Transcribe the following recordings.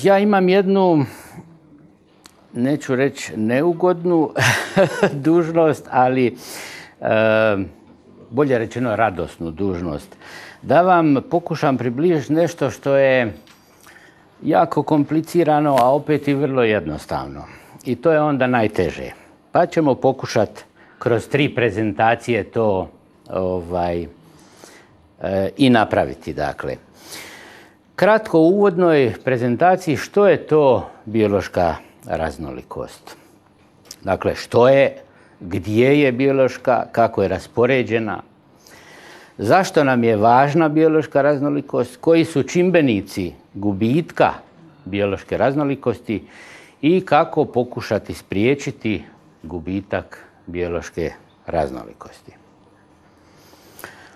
Ja imam jednu, neću reći neugodnu dužnost, ali bolje rečeno radosnu dužnost. Da vam pokušam približiti nešto što je jako komplicirano, a opet i vrlo jednostavno. I to je onda najteže. Pa ćemo pokušati kroz 3 prezentacije to i napraviti. Dakle, kratko u uvodnoj prezentaciji što je to biološka raznolikost. Dakle, što je, gdje je biološka, kako je raspoređena, zašto nam je važna biološka raznolikost, koji su čimbenici gubitka biološke raznolikosti i kako pokušati spriječiti gubitak biološke raznolikosti.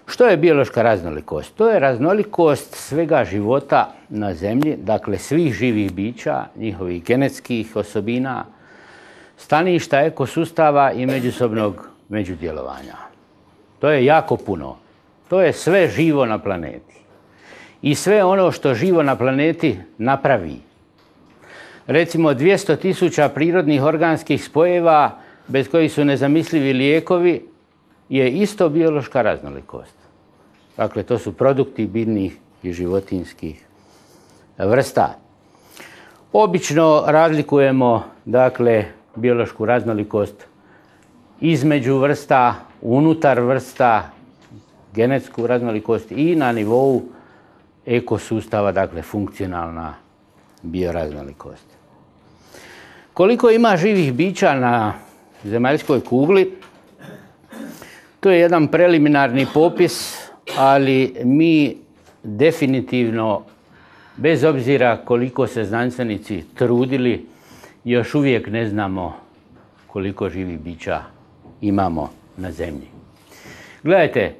Što je biološka raznolikost? To je raznolikost svega života na Zemlji, dakle svih živih bića, njihovih genetskih osobina, staništa, ekosustava i međusobnog međudjelovanja. To je jako puno. To je sve živo na planeti. I sve ono što živo na planeti napravi. Recimo 200.000 prirodnih organskih spojeva bez kojih su nezamislivi lijekovi je isto biološka raznolikost. Dakle, to su produkti biljnih i životinjskih vrsta. Obično razlikujemo, dakle, biološku raznolikost između vrsta, unutar vrsta, genetsku raznolikost i na nivou ekosustava, dakle, funkcionalna bioraznolikost. Koliko ima živih bića na zemaljskoj kugli? To je jedan preliminarni popis, ali mi definitivno, bez obzira koliko se znanstvenici trudili, još uvijek ne znamo koliko živih bića imamo na Zemlji. Gledajte,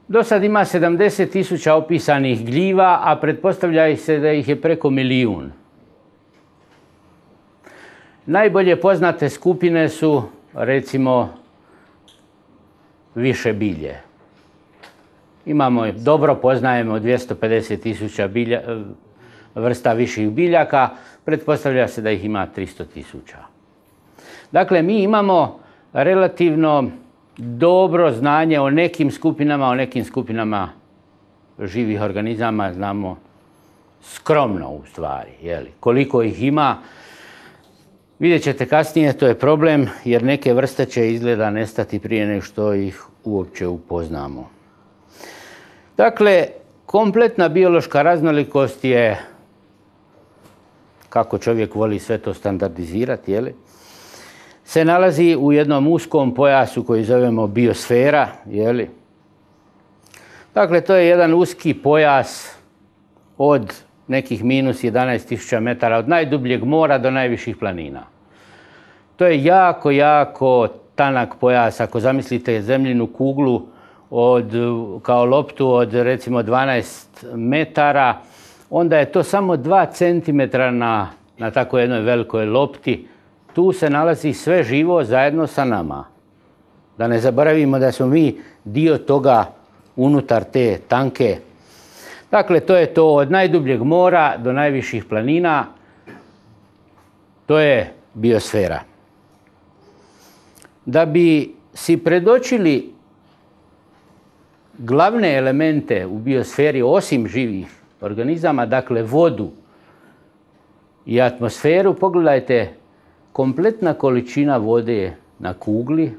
do sad ima 70.000 opisanih gljiva, a pretpostavlja se da ih je preko 1 milijun. Najbolje poznate skupine su, recimo, više bilje. Dobro poznajemo 250.000 vrsta viših biljaka, pretpostavlja se da ih ima 300.000. Dakle, mi imamo relativno dobro znanje o nekim skupinama živih organizama, znamo skromno u stvari. Koliko ih ima, vidjet ćete kasnije, to je problem, jer neke vrste će izgleda nestati prije nego što ih uopće upoznamo. Dakle, kompletna biološka raznolikost je, kako čovjek voli sve to standardizirati, se nalazi u jednom uskom pojasu koji zovemo biosfera. Dakle, to je jedan uski pojas od nekih minus 11.000 metara, od najdubljeg mora do najviših planina. To je jako, jako tanak pojas. Ako zamislite zemljinu kuglu kao loptu od recimo 12 metara, onda je to samo 2 centimetra na tako jednoj velikoj lopti. Tu se nalazi sve živo zajedno sa nama. Da ne zaboravimo da smo mi dio toga unutar te tanke. Dakle, to je to od najdubljeg mora do najviših planina. To je biosfera. Da bi si predočili glavne elemente u biosferi osim živih organizama, dakle vodu i atmosferu, pogledajte, kompletna količina vode na kugli,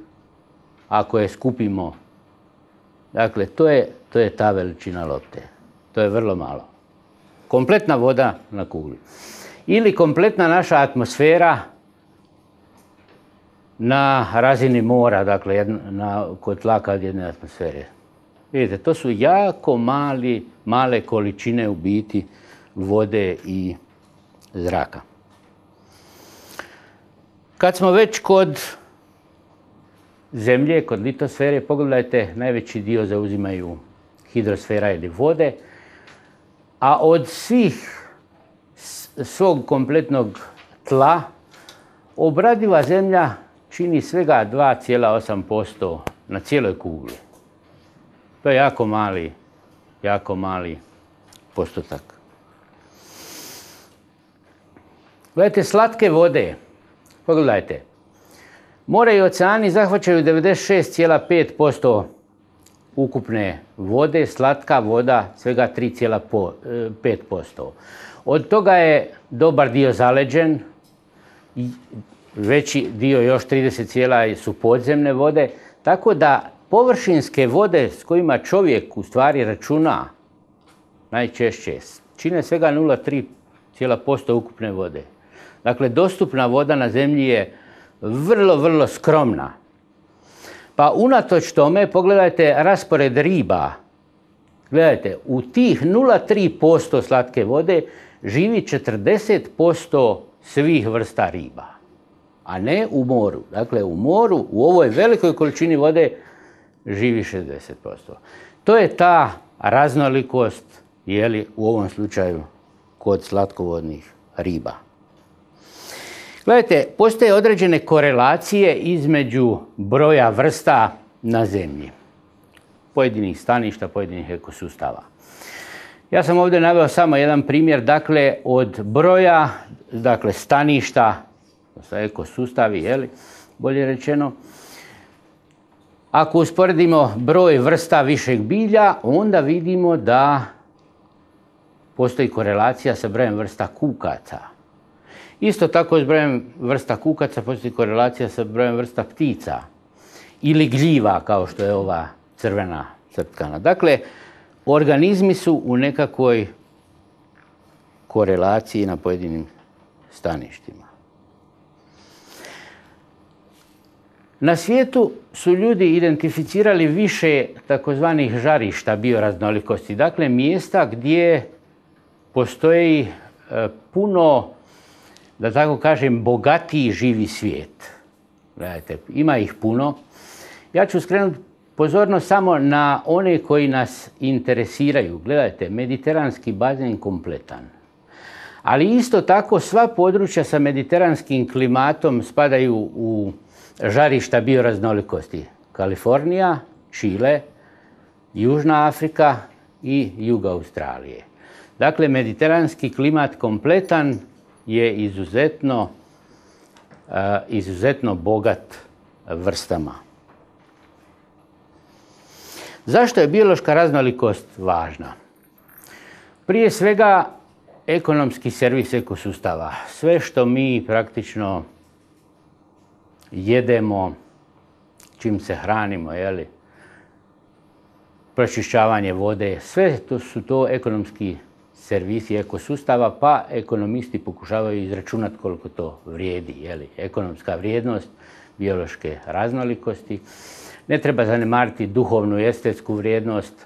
ako je skupimo, dakle, to je ta veličina lopte. To je vrlo malo. Kompletna voda na kugli. Ili kompletna naša atmosfera na razini mora, dakle, kod tlaka od jedne atmosfere. Vidite, to su jako male količine u biti vode i zraka. Kad smo već kod Zemlje, kod litosfere, pogledajte, najveći dio zauzimaju hidrosfera ili vode, a od svog kompletnog tla obradiva zemlja čini svega 2,8% na cijeloj kugli. To je jako mali postotak. Gledajte, slatke vode. Pogledajte. More i oceani zahvaćaju 96,5% ukupne vode, slatka voda svega 3,5%. Od toga je dobar dio zaleđen, veći dio još 30 su podzemne vode, tako da površinske vode s kojima čovjek u stvari računa najčešće čine svega 0,3% ukupne vode. Dakle, dostupna voda na zemlji je vrlo, vrlo skromna. Pa unatoč tome, pogledajte raspored riba. Gledajte, u tih 0,3% slatke vode živi 40% svih vrsta riba, a ne u moru. Dakle, u moru, u ovoj velikoj količini vode, živi 60%. To je ta raznolikost, u ovom slučaju, kod slatkovodnih riba. Gledajte, postoje određene korelacije između broja vrsta na zemlji, pojedinih staništa, pojedinih ekosustava. Ja sam ovdje naveo samo jedan primjer, dakle, od broja, staništa, ekosustavi, bolje rečeno. Ako usporedimo broj vrsta višeg bilja, onda vidimo da postoji korelacija sa brojem vrsta kukaca. Isto tako s brojem vrsta kukaca postoji korelacija sa brojem vrsta ptica ili gljiva, kao što je ova crvena crtkana. Dakle, organizmi su u nekakvoj korelaciji na pojedinim staništima. Na svijetu su ljudi identificirali više takozvanih žarišta bioraznolikosti, dakle mjesta gdje postoji puno, da tako kažem, bogatiji živi svijet. Gledajte, ima ih puno. Ja ću skrenuti pozornost samo na one koji nas interesiraju. Gledajte, mediteranski bazen kompletan. Ali isto tako sva područja sa mediteranskim klimatom spadaju u žarišta bioraznolikosti. Kalifornija, Čile, Južna Afrika i jug Australije. Dakle, mediteranski klimat kompletan je izuzetno bogat vrstama. Zašto je biološka raznolikost važna? Prije svega, ekonomski servis ekosustava. Sve što mi praktično jedemo, čim se hranimo, pročišćavanje vode, sve su to ekonomski servisi ekosustava, pa ekonomisti pokušavaju izračunati koliko to vrijedi. Ekonomska vrijednost biološke raznolikosti. Ne treba zanemariti duhovnu i estetsku vrijednost.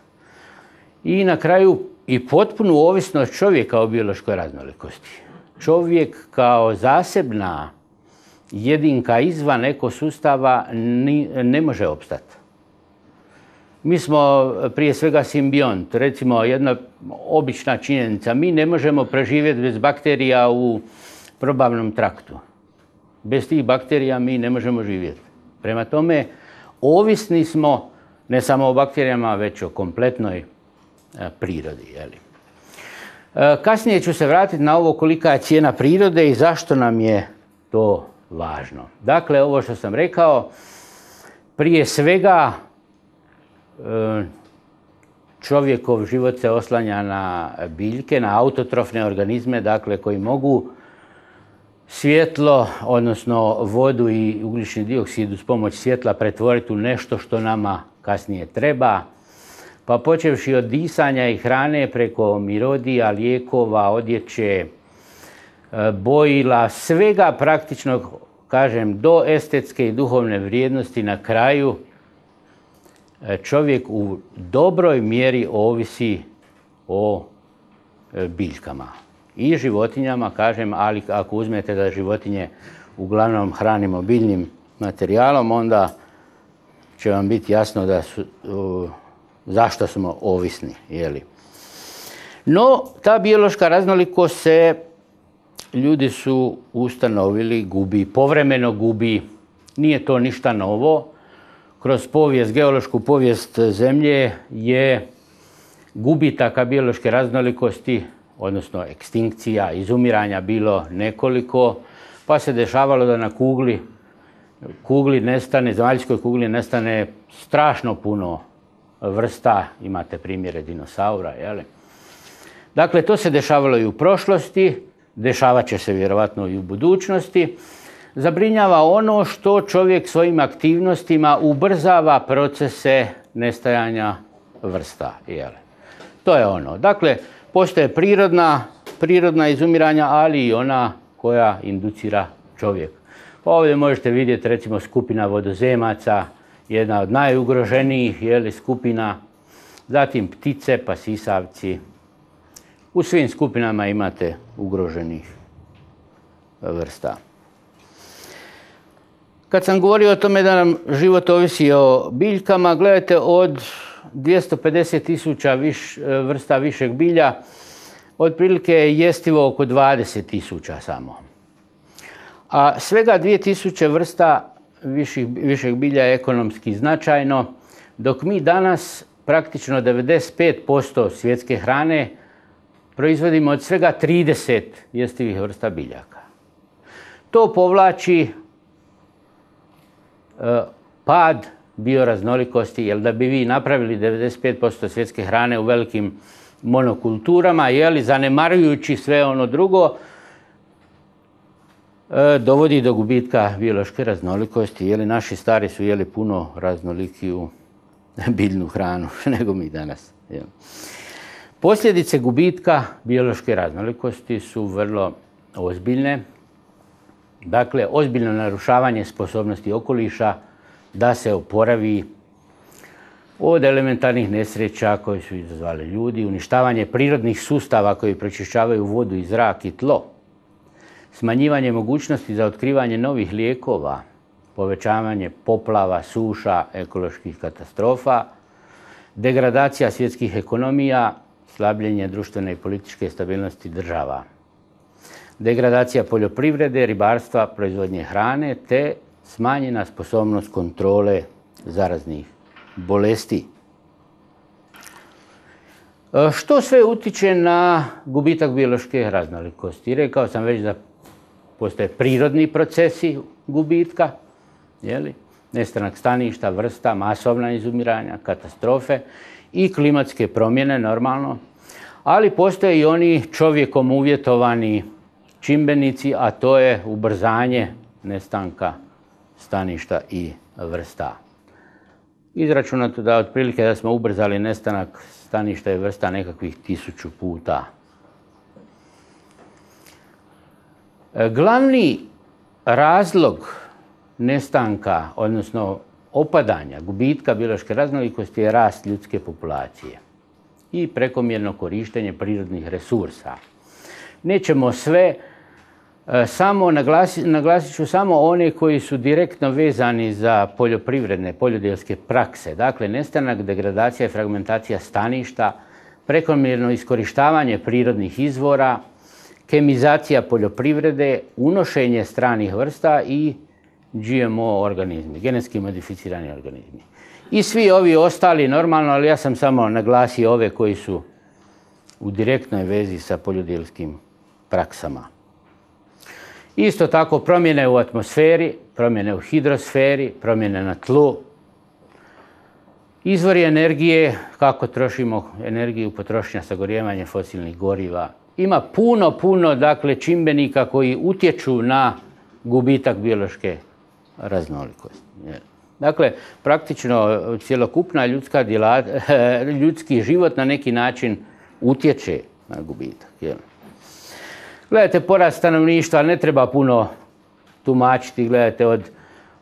I na kraju i potpunu ovisnost čovjeka o biološkoj raznolikosti. Čovjek kao zasebna jedinka izvan ekosustava ne može opstati. Mi smo prije svega simbiont. Recimo, jedna obična činjenica. Mi ne možemo preživjeti bez bakterija u probavnom traktu. Bez tih bakterija mi ne možemo živjeti. Prema tome, ovisni smo ne samo o bakterijama, već o kompletnoj prirodi. Kasnije ću se vratiti na ovo kolika je cijena prirode i zašto nam je to važno. Dakle, ovo što sam rekao, prije svega čovjekov život se oslanja na biljke, na autotrofne organizme, dakle, koji mogu svjetlo, odnosno vodu i ugljični dioksid uz pomoć svjetla pretvoriti u nešto što nama kasnije treba. Pa počevši od disanja i hrane preko mirodija, lijekova, odjeće, bojila, svega praktično, kažem, do estetske i duhovne vrijednosti na kraju, čovjek u dobroj mjeri ovisi o biljkama. I životinjama, kažem, ali ako uzmete da životinje uglavnom hranimo biljnim materijalom, onda će vam biti jasno da zašto smo ovisni. No, ta biološka raznolikost se, ljudi su ustanovili, gubi, povremeno gubi. Nije to ništa novo. Kroz povijest, geološku povijest zemlje je gubitaka biološke raznolikosti odnosno ekstinkcija, izumiranja bilo nekoliko, pa se dešavalo da na kugli nestane, zemaljskoj kugli nestane strašno puno vrsta, imate primjere dinosaura, jel? Dakle, to se dešavalo i u prošlosti, dešavat će se vjerovatno i u budućnosti. Zabrinjava ono što čovjek svojim aktivnostima ubrzava procese nestajanja vrsta, jel? To je ono. Dakle, postoje prirodna izumiranja, ali i ona koja inducira čovjek. Pa ovdje možete vidjeti recimo skupina vodozemaca, jedna od najugroženijih skupina, zatim ptice pa sisavci. U svim skupinama imate ugroženih vrsta. Kad sam govorio o tome da nam život ovisi o biljkama, gledajte, od 250.000 vrsta višeg bilja, otprilike je jestivo oko 20.000 samo. A svega 2.000 vrsta višeg bilja je ekonomski značajno, dok mi danas praktično 95% svjetske hrane proizvodimo od svega 30 jestivih vrsta biljaka. To povlači pad bioraznolikosti, jer da bi vi napravili 95% svjetske hrane u velikim monokulturama, zanemarujući sve ono drugo, dovodi do gubitka biološke raznolikosti. Naši stari su jeli puno raznolikiju biljnu hranu nego mi danas. Posljedice gubitka biološke raznolikosti su vrlo ozbiljne. Dakle, ozbiljno narušavanje sposobnosti okoliša da se oporavi od elementarnih nesreća koje su izazvali ljudi, uništavanje prirodnih sustava koji pročišćavaju vodu i zrak i tlo, smanjivanje mogućnosti za otkrivanje novih lijekova, povećavanje poplava, suša, ekoloških katastrofa, degradacija svjetskih ekonomija, slabljenje društvene i političke stabilnosti država, degradacija poljoprivrede, ribarstva, proizvodnje hrane te smanjena sposobnost kontrole zaraznih bolesti. Što sve utiče na gubitak biološke raznolikosti? Rekao sam već da postoje prirodni procesi gubitka, nestanak staništa, vrsta, masovna izumiranja, katastrofe i klimatske promjene, normalno, ali postoje i oni čovjekom uvjetovani čimbenici, a to je ubrzanje nestanka staništa i vrsta. Izračunato da otprilike da smo ubrzali nestanak staništa i vrsta nekakvih 1000 puta. Glavni razlog nestanka, odnosno opadanja, gubitka biološke raznolikosti je rast ljudske populacije i prekomjerno korištenje prirodnih resursa. Nećemo sve, naglasit ću samo one koji su direktno vezani za poljoprivredne, poljodjelske prakse. Dakle, nestanak, degradacija i fragmentacija staništa, prekomjerno iskorištavanje prirodnih izvora, kemizacija poljoprivrede, unošenje stranih vrsta i GMO organizmi, genetski modificirani organizmi. I svi ovi ostali normalno, ali ja sam samo naglasio ove koji su u direktnoj vezi sa poljodjelskim praksama. Isto tako promjene u atmosferi, promjene u hidrosferi, promjene na tlu, izvori energije, kako trošimo energiju, potrošnja, sagorijevanje fosilnih goriva. Ima puno dakle, čimbenika koji utječu na gubitak biološke raznolikosti. Dakle, praktično cjelokupna ljudski život na neki način utječe na gubitak. Gledajte, porast stanovništva ne treba puno tumačiti. Gledajte,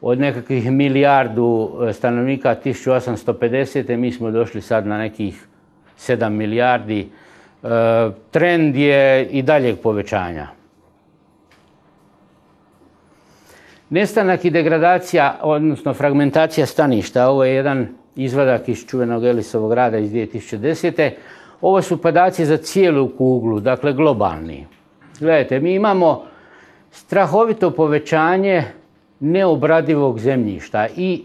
od nekakvih milijardu stanovnika 1850. mi smo došli sad na nekih 7 milijardi. Trend je i daljeg povećanja. Nestanak i degradacija, odnosno fragmentacija staništa. Ovo je jedan izvadak iz čuvenog Ellisovog rada iz 2010. Ovo su podaci za cijelu kuglu, dakle globalni. Gledajte, mi imamo strahovito povećanje neobradivog zemljišta i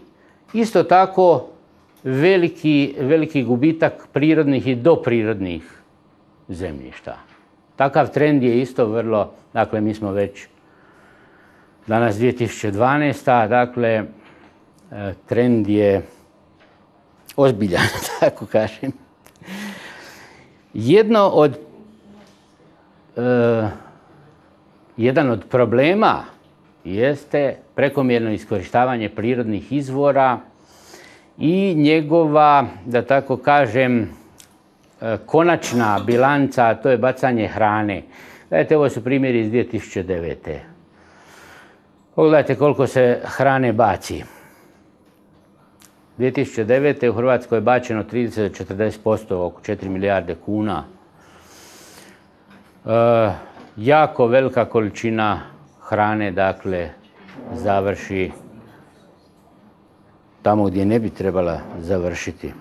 isto tako veliki gubitak prirodnih i doprirodnih zemljišta. Takav trend je isto vrlo, dakle mi smo već danas 2012. Dakle trend je ozbiljan, tako kažem. Jedan od problema jeste prekomjerno iskorištavanje prirodnih izvora i njegova, da tako kažem, konačna bilanca, a to je bacanje hrane. Gledajte, ovo su primjeri iz 2009. Pogledajte koliko se hrane baci. 2009. u Hrvatskoj je bačeno 30-40%, oko 4 milijarde kuna. Jako velika količina hrane, dakle, završi tamo gdje ne bi trebala završiti.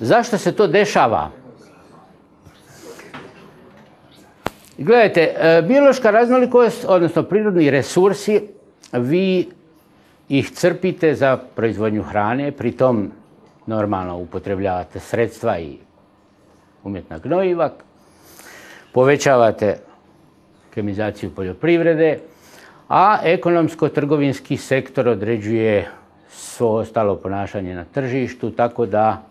Zašto se to dešava? Gledajte, biološka raznolikost, odnosno prirodni resursi, vi ih crpite za proizvodnju hrane, pritom normalno upotrebljavate sredstva i umjetna gnojiva, povećavate kemizaciju poljoprivrede, a ekonomsko-trgovinski sektor određuje svo ostalo ponašanje na tržištu, tako da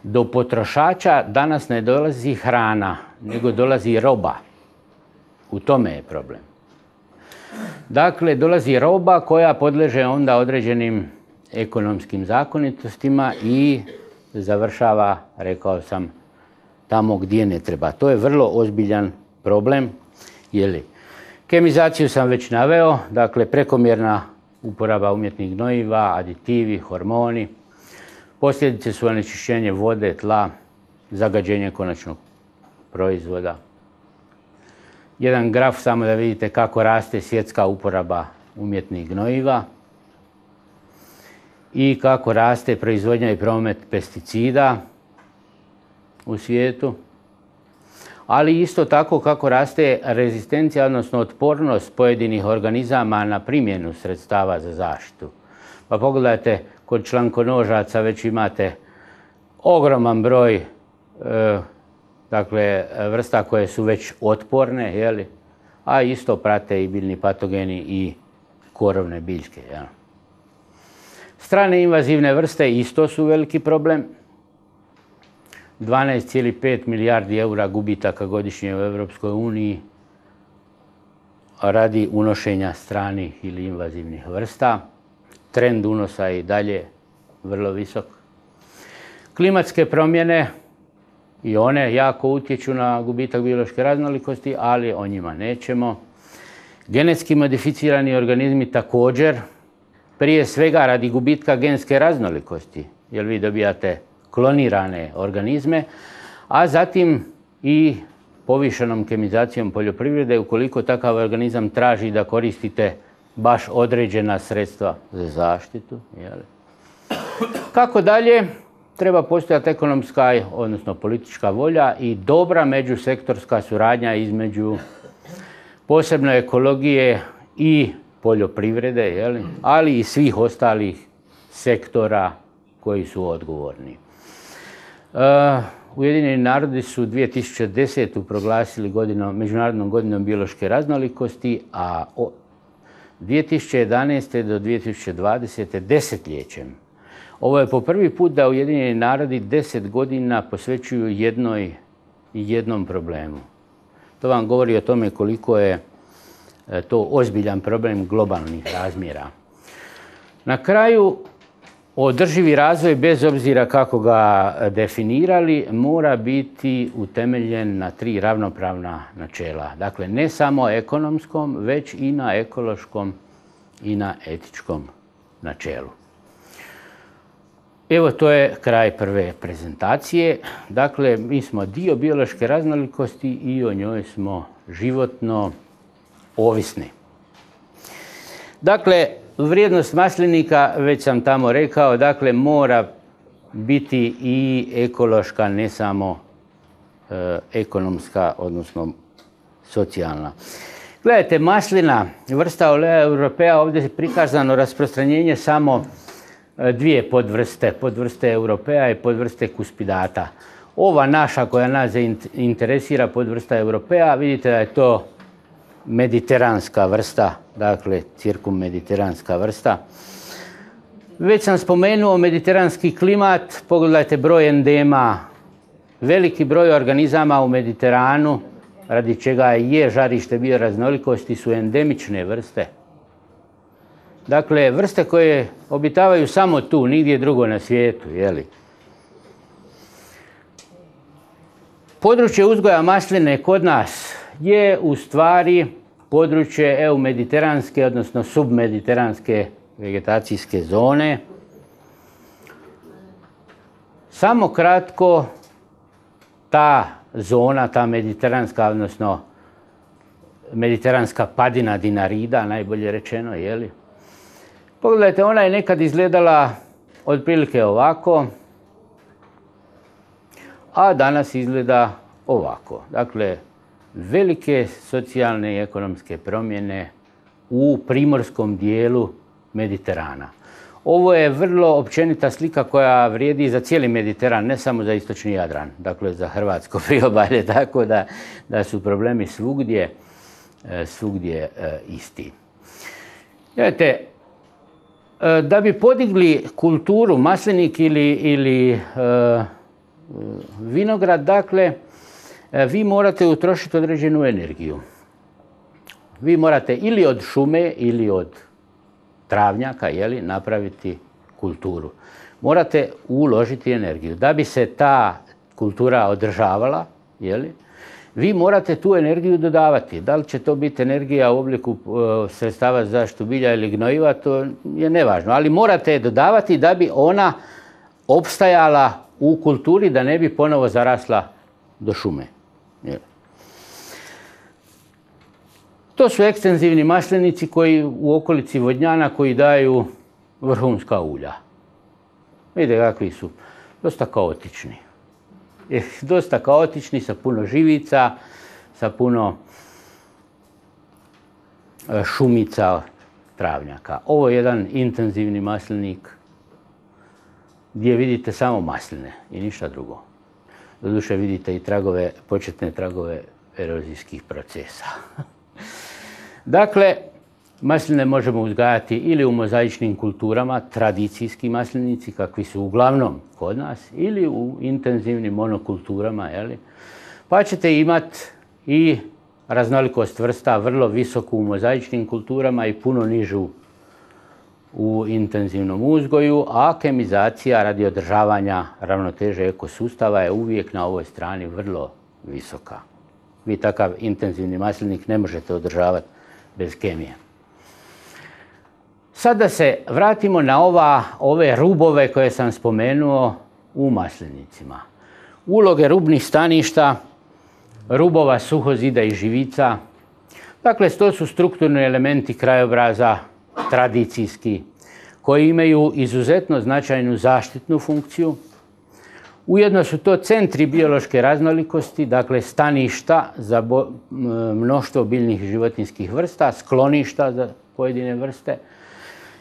do potrošača danas ne dolazi hrana, nego dolazi roba. U tome je problem. Dakle, dolazi roba koja podleže onda određenim ekonomskim zakonitostima i završava, rekao sam, tamo gdje ne treba. To je vrlo ozbiljan problem. Kemizaciju sam već naveo, dakle prekomjerna uporaba umjetnih gnojiva, aditivi, hormoni. Posljedice su onečišćenje vode, tla, zagađenje konačnog proizvoda. Jedan graf samo da vidite kako raste svjetska uporaba umjetnih gnojiva i kako raste proizvodnja i promet pesticida u svijetu, ali isto tako kako raste rezistencija, odnosno otpornost pojedinih organizama na primjenu sredstava za zaštitu. Pa pogledajte, kod člankonožaca već imate ogroman broj vrsta koje su već otporne, a isto prate i biljni patogeni i korovne biljke. Strane invazivne vrste isto su veliki problem. 12,5 milijardi eura gubitaka godišnje u Europskoj uniji radi unošenja stranih ili invazivnih vrsta. Trend unosa je i dalje vrlo visok. Klimatske promjene i one jako utječu na gubitak biološke raznolikosti, ali o njima nećemo. Genetski modificirani organizmi također, prije svega radi gubitka genske raznolikosti, jer vi dobijate klonirane organizme, a zatim i povišenom kemizacijom poljoprivrede, ukoliko takav organizam traži da koristite baš određena sredstva za zaštitu. Kako dalje? Treba postojati ekonomska, odnosno politička volja i dobra međusektorska suradnja između posebno ekologije i poljoprivrede, ali i svih ostalih sektora koji su odgovorni. Ujedinjeni narodi su 2010. proglasili Međunarodnom godinom biološke raznolikosti, a 2011. do 2020. desetljećem. Ovo je po prvi put da Ujedinjeni narodi 10 godina posvećuju jednom problemu. To vam govori o tome koliko je to ozbiljan problem globalnih razmjera. Na kraju, održivi razvoj, bez obzira kako ga definirali, mora biti utemeljen na 3 ravnopravna načela. Dakle, ne samo ekonomskom, već i na ekološkom i na etičkom načelu. Evo, to je kraj prve prezentacije. Dakle, mi smo dio biološke raznolikosti i o njoj smo životno ovisni. Dakle, vrijednost maslinika, već sam tamo rekao, dakle, mora biti i ekološka, ne samo ekonomska, odnosno socijalna. Gledajte, maslina, vrsta Olea europea, ovdje je prikazano rasprostranjenje samo 2 podvrste europea i podvrste cuspidata. Ova naša koja nas interesira podvrsta Europea, vidite da je to mediteranska vrsta, dakle cirkummediteranska vrsta. Već sam spomenuo mediteranski klimat, pogledajte broj endema, veliki broj organizama u Mediteranu, radi čega je žarište bioraznolikosti, su endemične vrste. Dakle, vrste koje obitavaju samo tu, nigdje drugo na svijetu, jeli? Područje uzgoja masline kod nas je u stvari područje eumediteranske, odnosno submediteranske vegetacijske zone. Samo kratko, ta zona, ta mediteranska, odnosno mediteranska padina Dinarida, najbolje rečeno, jeli? Pogledajte, ona je nekad izgledala otprilike ovako, a danas izgleda ovako. Dakle, velike socijalne i ekonomske promjene u primorskom dijelu Mediterana. Ovo je vrlo općenita slika koja vrijedi za cijeli Mediteran, ne samo za istočni Jadran, dakle za hrvatsko priobalje, tako da su problemi svugdje isti. Gledajte, da bi podigli kulturu maslinik ili vinograd, dakle, vi morate utrošiti određenu energiju. Vi morate ili od šume ili od travnjaka, jeli, napraviti kulturu. Morate uložiti energiju. Da bi se ta kultura održavala, jeli, vi morate tu energiju dodavati. Da li će to biti energija u obliku sredstava za zaštitu bilja ili gnojiva, to je nevažno. Ali morate je dodavati da bi ona opstajala u kulturi, da ne bi ponovo zarasla do šume. Jeli. To su ekstenzivni maslinici koji u okolici Vodnjana koji daju vrhunska ulja. Vidite kakvi su. Dosta kaotični. Dosta kaotični, sa puno živica, sa puno šumica, travnjaka. Ovo je jedan intenzivni maslinik gdje vidite samo masline i ništa drugo. Doduše vidite i početne tragove erozijskih procesa. Dakle, masline možemo uzgajati ili u mozaičnim kulturama, tradicijski maslinici, kakvi su uglavnom kod nas, ili u intenzivnim monokulturama, jeli? Pa ćete imati i raznolikost vrsta vrlo visoku u mozaičnim kulturama i puno nižu u intenzivnom uzgoju, a kemizacija radi održavanja ravnoteže ekosustava je uvijek na ovoj strani vrlo visoka. Vi takav intenzivni maslinik ne možete održavati bez kemije. Sad da se vratimo na ove rubove koje sam spomenuo u maslinicima. Uloge rubnih staništa, rubova suhozida i živica. Dakle, to su strukturni elementi krajobraza, tradicijski, koji imaju izuzetno značajnu zaštitnu funkciju. Ujedno su to centri biološke raznolikosti, dakle staništa za mnoštvo biljnih i životinjskih vrsta, skloništa za pojedine vrste,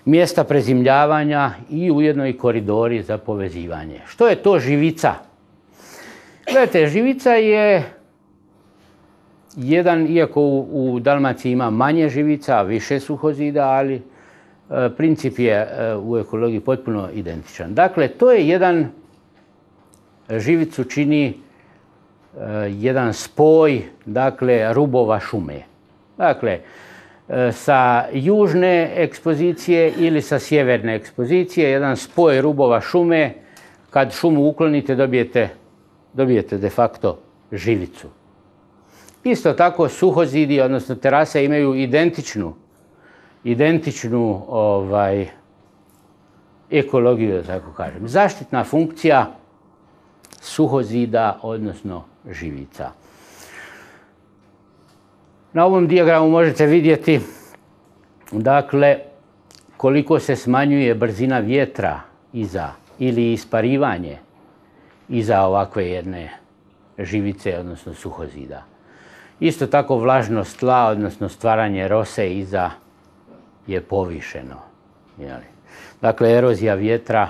mjesta prezimljavanja i ujedno i koridori za povezivanje. Što je to živica? Gledajte, živica je jedan, iako u Dalmaciji ima manje živica, više suhozida, ali princip je u ekologiji potpuno identičan. Dakle, to je živicu čini jedan spoj, dakle, rubova šume. Dakle, sa južne ekspozicije ili sa sjeverne ekspozicije, jedan spoj rubova šume, kad šumu uklonite dobijete de facto živicu. Isto tako suhozidi, odnosno terase, imaju identičnu ekologiju, da tako kažem. Zaštitna funkcija suhozida, odnosno živica. Na ovom dijagramu možete vidjeti, dakle, koliko se smanjuje brzina vjetra ili isparivanje iza ovakve jedne živice, odnosno suhozida. Isto tako vlažnost tla, odnosno stvaranje rose iza je povišeno. Dakle, erozija vjetra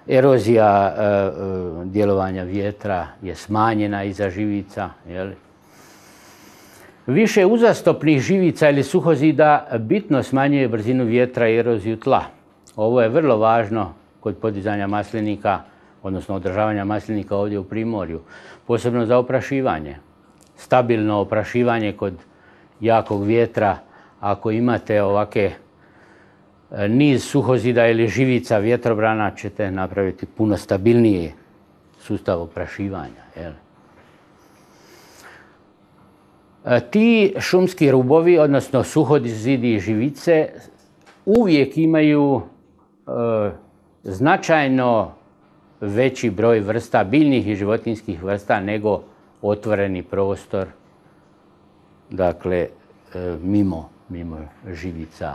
Erozija djelovanja vjetra je smanjena iza živica. Više uzastopnih živica ili suhozida bitno smanjuje brzinu vjetra i eroziju tla. Ovo je vrlo važno kod podizanja maslinika, odnosno održavanja maslinika ovdje u Primorju, posebno za oprašivanje. Stabilno oprašivanje kod jakog vjetra, ako imate ovake niz suhozida ili živica vjetrobrana, ćete napraviti puno stabilniji sustav oprašivanja. Ti šumski rubovi, odnosno suhozidi i živice, uvijek imaju značajno veći broj vrsta, biljnih i životinjskih vrsta, nego otvoreni prostor, dakle, mimo živica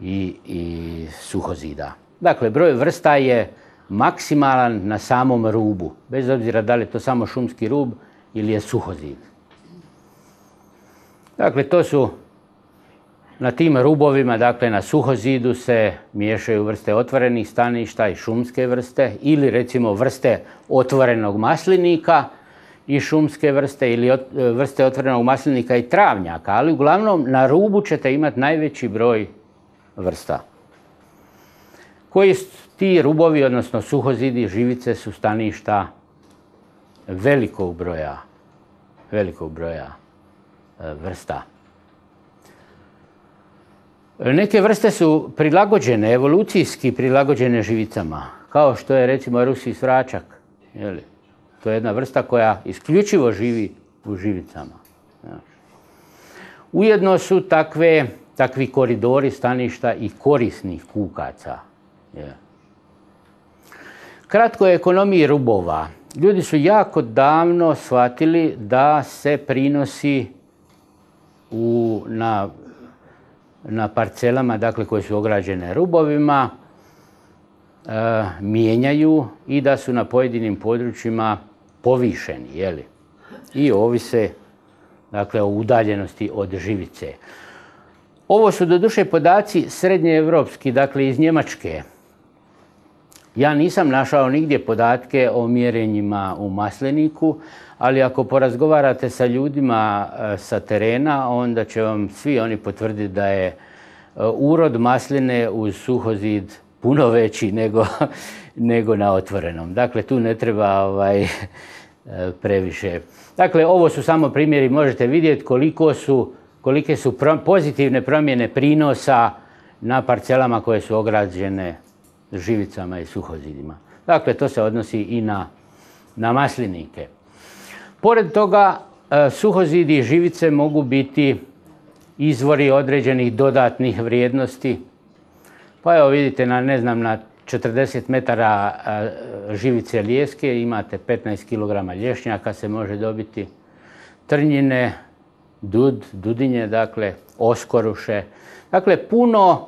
i suhozida. Dakle, broj vrsta je maksimalan na samom rubu, bez obzira da li je to samo šumski rub ili je suhozid. Dakle, to su na tim rubovima, dakle na suhozidu se miješaju vrste otvorenih staništa i šumske vrste, ili recimo vrste otvorenog maslinika i šumske vrste, ili vrste otvorenog maslinika i travnjaka, ali uglavnom na rubu ćete imati najveći broj vrsta. Koji ti rubovi, odnosno suhozidi, živice su staništa velikog broja vrsta. Neke vrste su prilagođene, evolucijski prilagođene živicama, kao što je recimo rusi svračak. To je jedna vrsta koja isključivo živi u živicama. Ujedno su takvi koridori staništa i korisnih kukaca. Kratko o ekonomiji rubova. Ljudi su jako davno shvatili da se prinosi na parcelama, dakle, koje su ograđene rubovima, mijenjaju i da su na pojedinim područjima povišeni, i ovise, dakle, o udaljenosti od živice. Ovo su doduše podaci srednjeevropski, dakle iz Njemačke. Ja nisam našao nigdje podatke o mjerenjima u masliniku, ali ako porazgovarate sa ljudima sa terena, onda će vam svi oni potvrditi da je urod masline uz suhozid puno veći nego na otvorenom. Dakle, tu ne treba previše. Dakle, ovo su samo primjeri, možete vidjeti kolike su pozitivne promjene prinosa na parcelama koje su ograđene živicama i suhozidima. Dakle, to se odnosi i na maslinike. Pored toga, suhozidi i živice mogu biti izvori određenih dodatnih vrijednosti. Pa evo vidite, na 40 metara živice lijeske imate 15 kg lješnjaka se može dobiti, trnjine, dudinje, dakle, oskoruše. Dakle, puno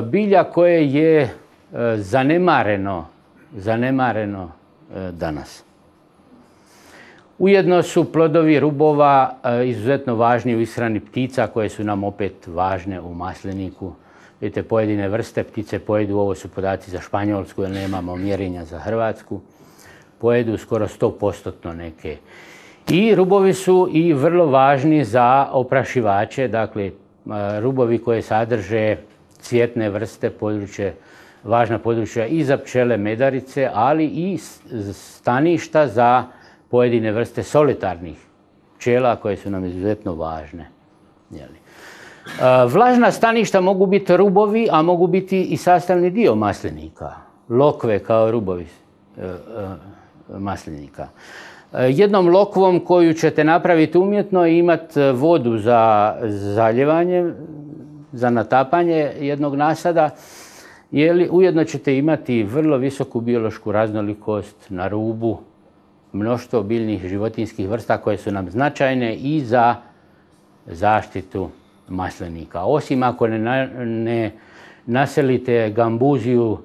bilja koje je zanemareno danas. Ujedno su plodovi rubova izuzetno važni u ishrani ptica koje su nam opet važne u masliniku. Vidite, pojedine vrste ptice pojedu, ovo su podaci za Španjolsku jer nemamo mjerenja za Hrvatsku, pojedu skoro 100% neke. I rubovi su i vrlo važni za oprašivače, dakle rubovi koje sadrže cvjetne vrste, važna područja i za pčele medarice, ali i staništa za pojedine vrste solitarnih pčela koje su nam izuzetno važne. Vlažna staništa mogu biti rubovi, a mogu biti i sastavni dio maslinika. Lokve kao rubovi maslinika. Jednom lokvom koju ćete napraviti umjetno i imati vodu za zaljevanje, za natapanje jednog nasada, ujedno ćete imati vrlo visoku biološku raznolikost na rubu, mnoštvo biljnih životinjskih vrsta koje su nam značajne i za zaštitu maslinika. Osim ako ne naselite gambuziju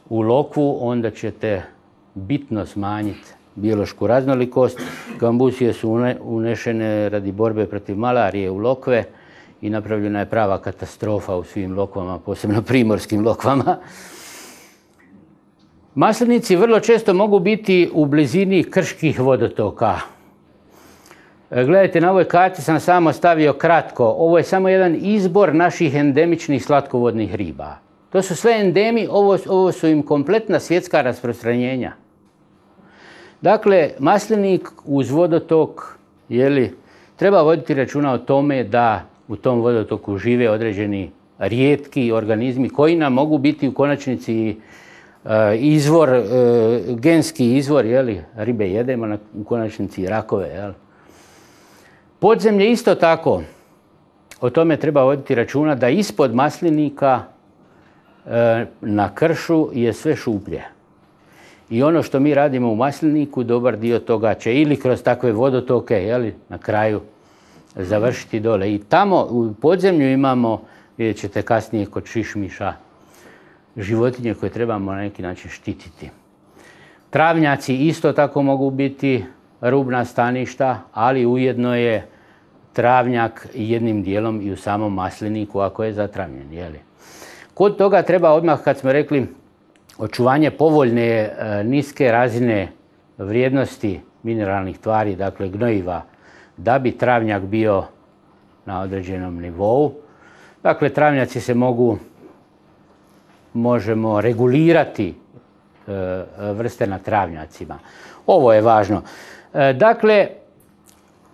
u lokvu, onda ćete bitno smanjiti biološku raznolikost. Gambuzije su unešene radi borbe protiv malarije u lokve i napravljena je prava katastrofa u svim lokvama, posebno primorskim lokvama. Maslinici vrlo često mogu biti u blizini krških vodotoka. Gledajte, na ovoj karti sam samo stavio kratko. Ovo je samo jedan izbor naših endemičnih slatkovodnih riba. To su sve endemi, ovo su im kompletna svjetska rasprostranjenja. Dakle, maslinik uz vodotok, treba voditi računa o tome da u tom vodotoku žive određeni rijetki organizmi koji nam mogu biti u konačnici izvor, genski izvor, ribe jedemo, u konačnici rakove. Podzemlje isto tako, o tome treba voditi računa da ispod maslinika na kršu je sve šuplje. I ono što mi radimo u masliniku, dobar dio toga će ili kroz takve vodotoke, na kraju završiti dole. I tamo u podzemlju imamo, vidjet ćete kasnije kod šišmiša, životinje koje trebamo na neki način štititi. Travnjaci isto tako mogu biti rubna staništa, ali ujedno je travnjak jednim dijelom i u samom masliniku ako je zatravnjen. Kod toga treba odmah, kad smo rekli, očuvanje povoljne niske razine vrijednosti mineralnih tvari, dakle gnojiva, da bi travnjak bio na određenom nivou. Dakle, travnjaci se možemo regulirati vrste na travnjacima. Ovo je važno. Dakle,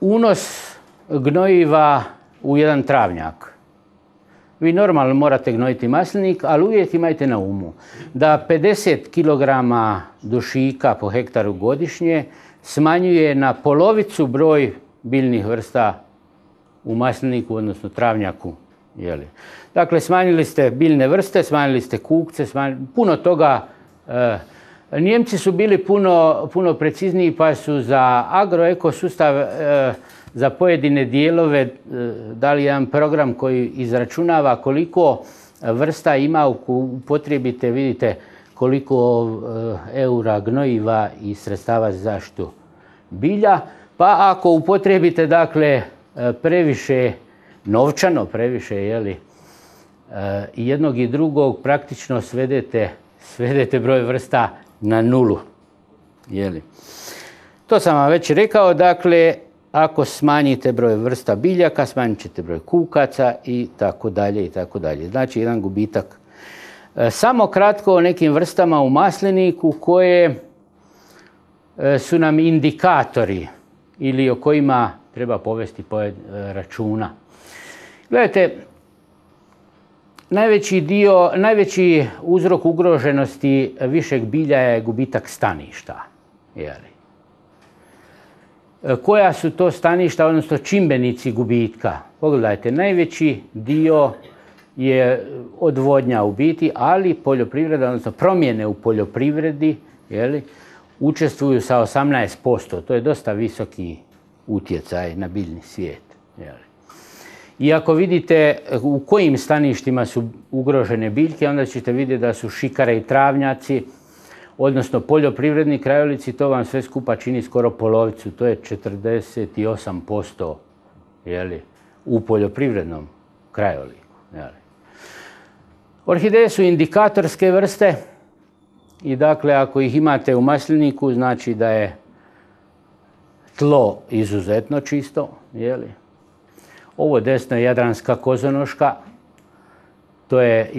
unos gnojiva u jedan travnjak. Vi normalno morate gnojiti maslinik, ali uvijek imajte na umu da 50 kg dušika po hektaru godišnje smanjuje na polovicu broj biljnih vrsta u masliniku, odnosno travnjaku. Dakle, smanjili ste biljne vrste, smanjili ste kukce, puno toga. Nijemci su bili puno precizniji pa su za agroekosustav za pojedine dijelove dali jedan program koji izračunava koliko vrsta ima upotrijebite, vidite koliko eura gnojiva i sredstava za zaštitu bilja. Pa ako upotrijebite dakle previše novčano, previše i jednog i drugog, praktično svedete broj vrsta na nulu. To sam vam već rekao, dakle, ako smanjite broj vrsta biljaka, smanjit ćete broj kukaca i tako dalje i tako dalje. Znači, jedan gubitak. Samo kratko o nekim vrstama u masliniku koje su nam indikatori ili o kojima treba povesti računa. Gledajte, najveći uzrok ugroženosti višeg bilja je gubitak staništa. Koja su to staništa, odnosno čimbenici gubitka? Pogledajte, najveći dio je odvodnja u biti, ali poljoprivreda, odnosno promjene u poljoprivredi, učestvuju sa 18%. To je dosta visoki utjecaj na biljni svijet. I ako vidite u kojim staništima su ugrožene biljke, onda ćete vidjeti da su šikare i travnjaci, odnosno poljoprivredni krajolici, to vam sve skupa čini skoro polovicu, to je 48% u poljoprivrednom krajoliku. Orhideje su indikatorske vrste i dakle ako ih imate u masliniku znači da je tlo izuzetno čisto. Ovo desno je jadranska kozonoška, to je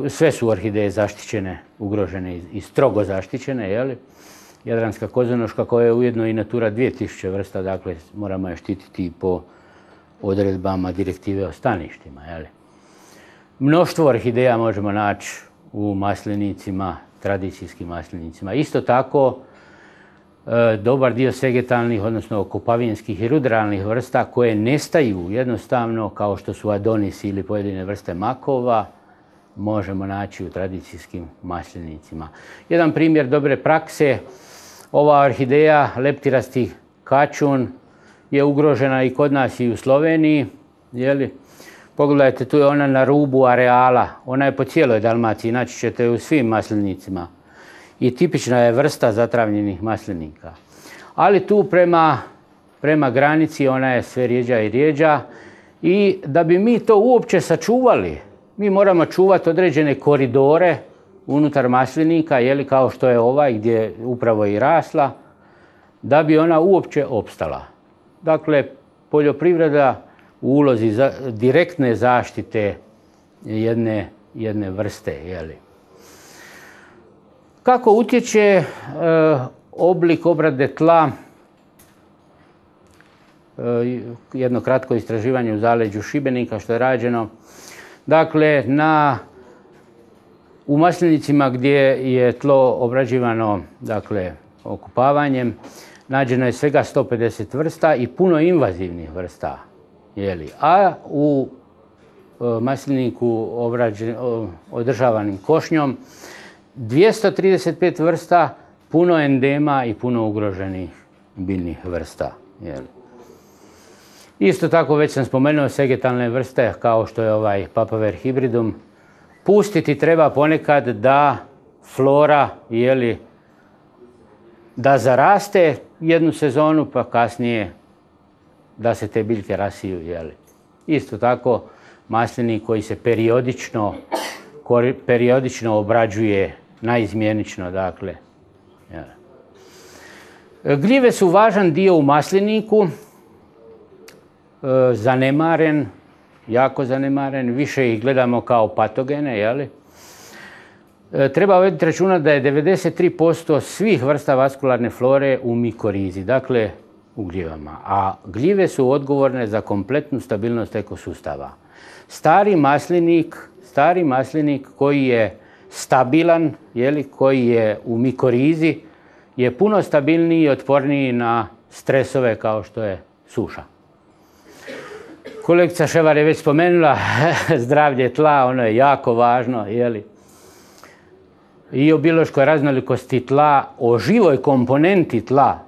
sve su orhideje zaštićene, ugrožene i strogo zaštićene. Jadranska kozonoška koja je ujedno i Natura 2000 vrsta, dakle moramo je štititi po odredbama direktive o staništima. Mnoštvo orhideja možemo naći u maslinicima, tradicijskim maslinicima. Isto tako, dobar dio segetalnih, odnosno kopavinskih i ruderalnih vrsta koje nestaju jednostavno, kao što su adonis ili pojedine vrste makova, možemo naći u tradicijskim maslinicima. Jedan primjer dobre prakse, ova orhideja leptirasti kačun je ugrožena i kod nas i u Sloveniji. Pogledajte, tu je ona na rubu areala, ona je po cijeloj Dalmaciji, naći ćete u svim maslinicima. I tipična je vrsta zatravljenih maslinika. Ali tu prema granici ona je sve rijeđa i rijeđa i da bi mi to uopće sačuvali, mi moramo čuvati određene koridore unutar maslinika, kao što je ovaj gdje je upravo i rasla, da bi ona uopće opstala. Dakle, poljoprivreda u ulozi direktne zaštite jedne vrste. Kako utječe oblik obrade tla? Jedno kratko istraživanje u zaleđu Šibenika što je rađeno. Dakle, u maslinicima gdje je tlo obrađivano okupavanjem, nađeno je svega 150 vrsta i puno invazivnih vrsta. A u masliniku održavanim košnjom 235 vrsta, puno endema i puno ugroženih biljnih vrsta. Isto tako, već sam spomenuo segetalne vrste kao što je ovaj Papaver hybridum. Pustiti treba ponekad da flora da zaraste jednu sezonu, pa kasnije da se te biljke rasiju. Isto tako, maslinik koji se periodično obrađuje, naizmjenično, dakle. Gljive su važan dio u masliniku, zanemaren, jako zanemaren, više ih gledamo kao patogene. Treba voditi računa da je 93% svih vrsta vaskularne flore u mikorizi, dakle u gljivama, a gljive su odgovorne za kompletnu stabilnost ekosustava. Stari maslinik koji je stabilan, koji je u mikorizi, je puno stabilniji i otporniji na stresove kao što je suša. Kolegica Ševar je već spomenula zdravlje tla, ono je jako važno. I o biološkoj raznolikosti tla, o živoj komponenti tla